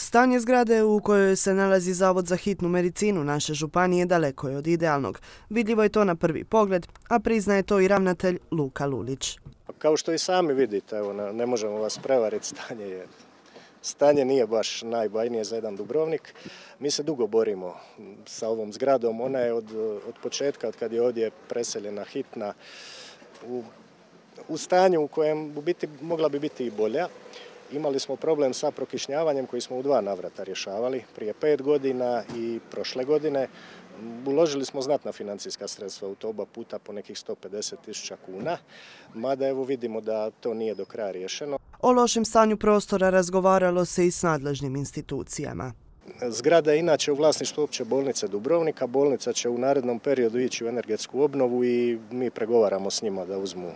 Stanje zgrade u kojoj se nalazi Zavod za hitnu medicinu naše županije daleko je od idealnog. Vidljivo je to na prvi pogled, a priznaje to i ravnatelj Luka Lulić. Kao što i sami vidite, evo, ne možemo vas prevariti, stanje nije baš najbajnije za jedan Dubrovnik. Mi se dugo borimo sa ovom zgradom. Ona je od početka, od kad je ovdje preseljena hitna, u stanju u kojem u biti mogla bi biti i bolja. Imali smo problem sa prokišnjavanjem koji smo u 2 navrata rješavali, prije 5 godina i prošle godine. Uložili smo znatna financijska sredstva u to oba puta po nekih 150.000 kuna, mada evo vidimo da to nije do kraja riješeno. O lošem stanju prostora razgovaralo se i s nadležnim institucijama. Zgrada je inače u vlasništvu Opće bolnice Dubrovnika. Bolnica će u narednom periodu ići u energetsku obnovu i mi pregovaramo s njima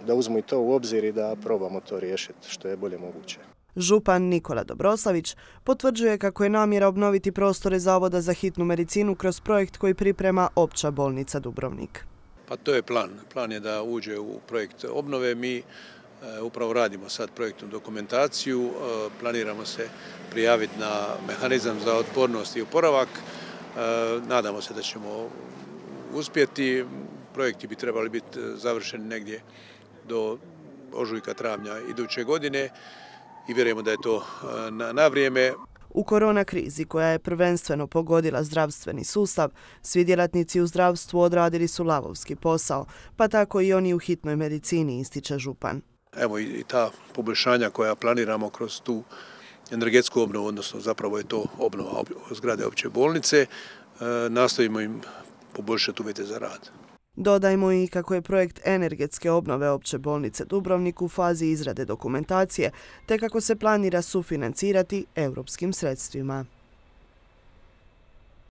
da uzmu i to u obzir i da probamo to riješiti što je bolje moguće. Župan Nikola Dobroslavić potvrđuje kako je namjera obnoviti prostore Zavoda za hitnu medicinu kroz projekt koji priprema Opća bolnica Dubrovnik. Pa to je plan. Plan je da uđe u projekt obnove. Mi upravo radimo sad projektnu dokumentaciju, planiramo se prijaviti na mehanizam za otpornost i oporavak. Nadamo se da ćemo uspjeti. Projekti bi trebali biti završeni negdje do ožujka, travnja iduće godine i vjerujemo da je to na vrijeme. U korona krizi koja je prvenstveno pogodila zdravstveni sustav, svi djelatnici u zdravstvu odradili su lavovski posao, pa tako i oni u hitnoj medicini, ističe župan. Evo i ta poboljšanja koja planiramo kroz tu energetsku obnovu, odnosno zapravo je to obnova zgrade Opće bolnice, nastojimo im poboljšati uvjete za rad. Dodajmo i kako je projekt energetske obnove Opće bolnice Dubrovnik u fazi izrade dokumentacije, te kako se planira sufinancirati europskim sredstvima.